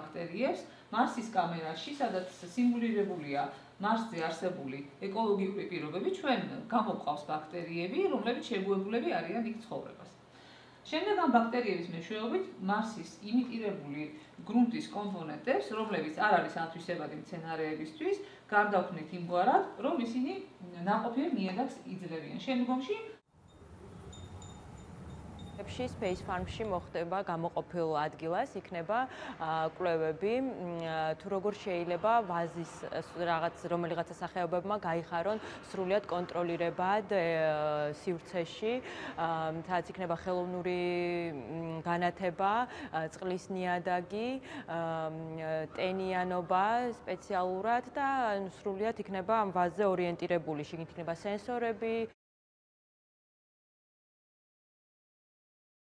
ბაქტერიებს მარსის კამერაში, სადაც სიმულირებულია მარსზე არსებული ეკოლოგიური პირობები, ჩვენ გამოყვავს ბაქტერიები, რომლებიც შეგუებულები არიან იქ ცხოვრებას. შემდეგ ამ ბაქტერიების მეშვეობით მარსის იმიტირებული გრუნტის კომპონენტებს, რომლებიც არ არის ათვისებადი მცენარეებისთვის, გარდაქმნით იმგვარად, რომ ისინი ნაყოფიერ ნიადაგს იძლევიან. შემდგომში Space Farm-ში მოხდება გამოყოფილ ადგილას, იქნება კვლევები, თუ როგორ შეიძლება ვაზის რომელიღაცა სახეობებმა გაიხარონ სრულად კონტროლირებად სივრცეში, სადაც იქნება ხელოვნური განათება, წყლის ნიადაგი, ტენიანობა სპეციალურად და სრულად იქნება ამ ვაზზე ორიენტირებული, შიგნით იქნება სენსორები.